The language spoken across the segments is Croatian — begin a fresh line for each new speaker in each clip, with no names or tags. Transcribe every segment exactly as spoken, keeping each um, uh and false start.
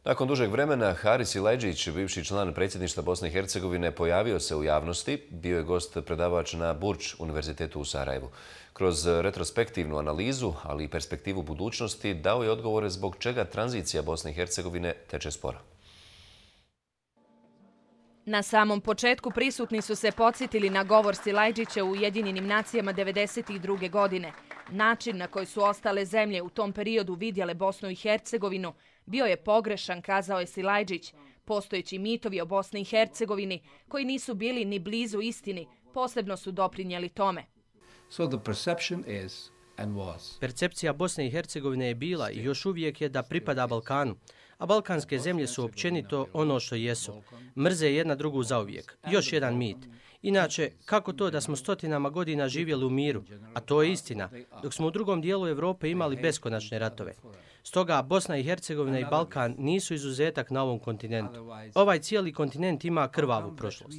Nakon dužeg vremena, Haris Silajdžić, bivši član predsjedništva Bosne i Hercegovine, pojavio se u javnosti. Bio je gost predavač na Burč univerzitetu u Sarajevu. Kroz retrospektivnu analizu, ali i perspektivu budućnosti, dao je odgovore zbog čega tranzicija Bosne i Hercegovine teče sporo.
Na samom početku prisutni su se podsjetili na govor Silajdžića u Ujedinjenim nacijama devedeset druge. godine. Način na koji su ostale zemlje u tom periodu vidjele Bosnu i Hercegovinu bio je pogrešan, kazao je Silajdžić. Postojeći mitovi o Bosni i Hercegovini, koji nisu bili ni blizu istini, posebno su doprinijeli tome.
So the perception is and was.
Percepcija Bosne i Hercegovine je bila i još uvijek je da pripada Balkanu, a balkanske zemlje su općenito ono što jesu. Mrze jedna drugu zauvijek. Još jedan mit. Inače, kako to da smo stotinama godina živjeli u miru, a to je istina, dok smo u drugom dijelu Europe imali beskonačne ratove. Stoga Bosna i Hercegovina i Balkan nisu izuzetak na ovom kontinentu. Ovaj cijeli kontinent ima krvavu prošlost.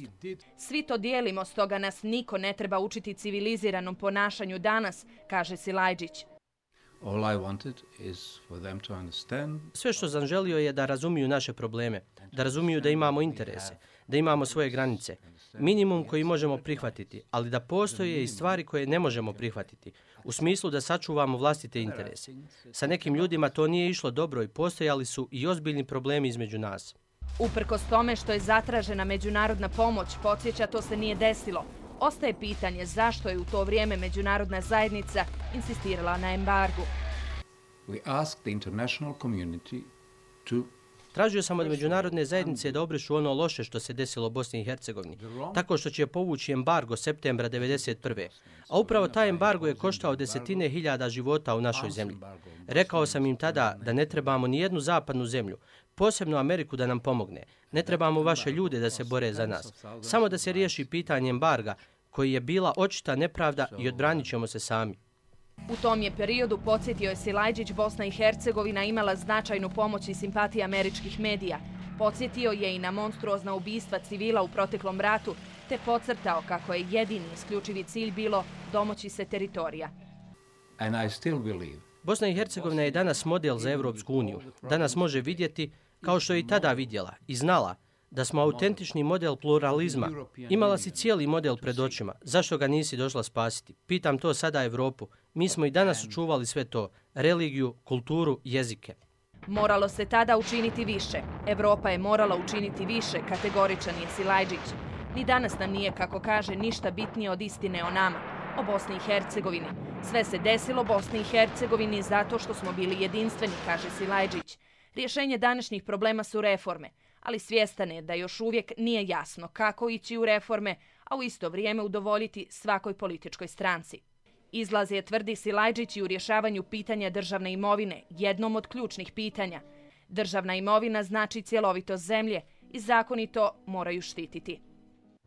Svi to dijelimo, stoga nas niko ne treba učiti civiliziranom ponašanju danas, kaže Silajdžić.
All I wanted is for them to understand.
Sve što sam želio je da razumiju naše probleme, da razumiju da imamo interese, da imamo svoje granice, minimum koji možemo prihvatiti, ali da postoje i stvari koje ne možemo prihvatiti, u smislu da sačuvamo vlastite interese. Sa nekim ljudima to nije išlo dobro i postojali su i ozbiljni problemi između nas.
Uprkos tome što je zatražena međunarodna pomoć, podsjeća, to se nije desilo. Ostaje pitanje zašto je u to vrijeme međunarodna zajednica insistirala na embargu.
We asked the international community to
Tražio sam od međunarodne zajednice da obrišu ono loše što se desilo u Bosni i Hercegovini, tako što će povući embargo septembra devedeset prve. A upravo taj embargo je koštao desetine hiljada života u našoj zemlji. Rekao sam im tada da ne trebamo ni jednu zapadnu zemlju, posebno Ameriku da nam pomogne. Ne trebamo vaše ljude da se bore za nas. Samo da se riješi pitanje embarga, koji je bila očita nepravda i odbranit ćemo se sami.
U tom je periodu, podsjetio je Silajdžić, Bosna i Hercegovina imala značajnu pomoć i simpatije američkih medija. Podsjetio je i na monstruozna ubistva civila u proteklom ratu, te podcrtao kako je jedini isključivi cilj bilo domoći se teritorija.
and I still believe.
Bosna i Hercegovina je danas model za Europsku uniju. Danas može vidjeti, kao što je i tada vidjela i znala, da smo autentični model pluralizma. Imala si cijeli model pred očima. Zašto ga nisi došla spasiti? Pitam to sada Europu. Mi smo i danas očuvali sve to. Religiju, kulturu, jezike.
Moralo se tada učiniti više. Evropa je morala učiniti više, kategoričan je Silajdžić. Ni danas nam nije, kako kaže, ništa bitnije od istine o nama, o Bosni i Hercegovini. Sve se desilo Bosni i Hercegovini zato što smo bili jedinstveni, kaže Silajdžić. Rješenje današnjih problema su reforme, ali svjestan je da još uvijek nije jasno kako ići u reforme, a u isto vrijeme udovoljiti svakoj političkoj stranci. Izlaz je, tvrdi Silajdžić, i u rješavanju pitanja državne imovine, jednom od ključnih pitanja. Državna imovina znači cjelovitost zemlje i zakoni to moraju štititi.